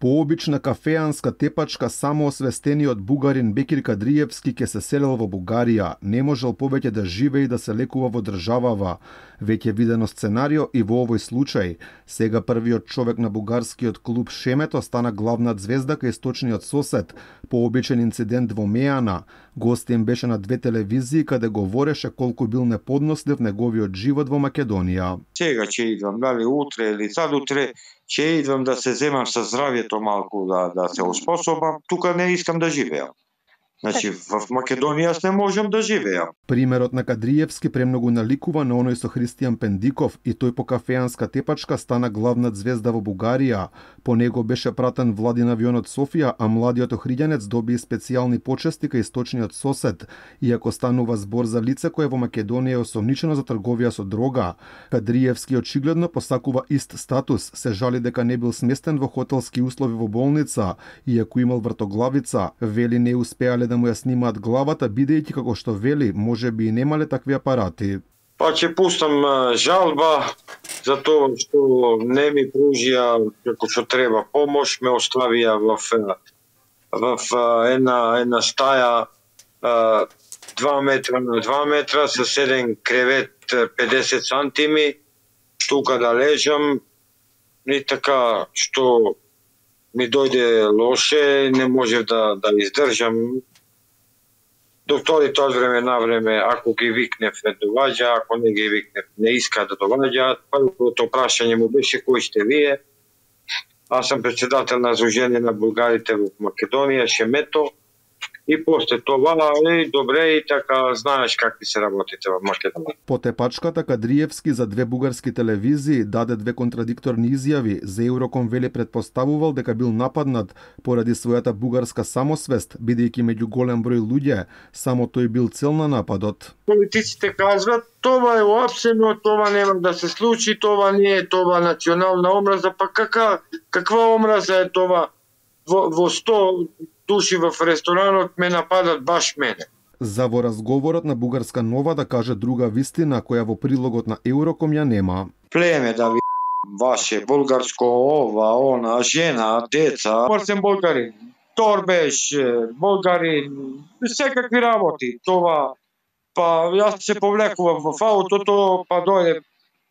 Пообична кафеанска тепачка самоосвестениот бугарин Бекир Кадриевски ке се селел во Бугарија, не можел повеќе да живее и да се лекува во државава. Веќе видено сценарио и во овој случај. Сега првиот човек на бугарскиот клуб Шемето стана главна звезда кај источниот сосед. Пообичен инцидент во Мејана. Гостин беше на две телевизии каде говореше колку бил неподнослив неговиот живот во Македонија. Сега ќе идвам, дали утре или сад утре, ќе идвам да се земам со здравјето малку, да се успособам. Тука не искам да живеам. Значи, в Македонија не можам да живеам. Примерот на Кадриевски премногу наликува на оној со Христијан Пендиков и тој по кафеанска тепачка стана главна звезда во Бугарија. По него беше пратен владин авион од Софија, а младиот охриѓанец доби специјални почести кај источниот сосед, иако станува збор за лице кое во Македонија е осомничено за трговија со дрога. Кадриевски очигледно посакува ист статус, се жали дека не бил сместен во хотелски услови во болница, иако имал вртоглавица, вели не успеале да му ја снимаат главата, бидејќи како што вели, можеби и немале такви апарати. Па ќе пустам жалба за тоа што не ми пружија како што треба помош, ме оставија в една стаја 2 метра на 2 метра со 7 кревет 50 сантими, тука да лежам и така што ми дојде лоше, не можев да издржам. Докторите од време на време, ако ги викнев, не доваѓа, ако не ги викнев, не иска да доваѓаат. Првото прашање му беше кои сте вие. Аз сам председател на Сдружение на булгарите во Македонија, Шемето. И после това, добре, и така знаеш какви се работите во Македонија. По тепачката Кадриевски за две бугарски телевизии даде две контрадикторни изјави. За Евроком вели предпоставувал дека бил нападнат поради својата бугарска самосвест, бидејќи меѓу голем број луѓе, само тој бил цел на нападот. Политиците кажат, това е уапсено, това нема да се случи, това не е това национална омраза, па каква омраза е това? Во 100 души в ресторанот ме нападат баш мене. За во разговорот на Бугарска нова да каже друга вистина која во прилогот на Евроком ја нема. Племе да ви ваше булгарско ова, она, жена, деца. Сум булгарин, торбеш, булгарин, секакви работи. Това, па јас се повлекувам во аутото, па дојде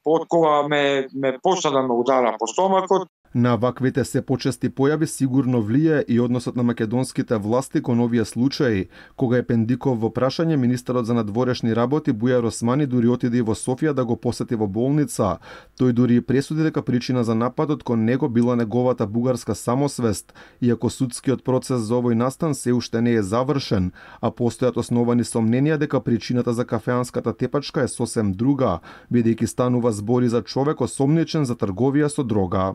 од кога ме посада ме удара по стомакот. На ваквите се почести појави сигурно влие и односот на македонските власти кон овие случаи. Кога е Пендиков во прашање, министерот за надворешни работи Бујар Османи дури отиде и во Софија да го посети во болница. Тој дури и пресуди дека причина за нападот кон него била неговата бугарска самосвест, иако судскиот процес за овој настан се уште не е завршен, а постојат основани сомненија дека причината за кафеанската тепачка е сосем друга, бидејќи станува збори за човек осомничен за трговија со дрога.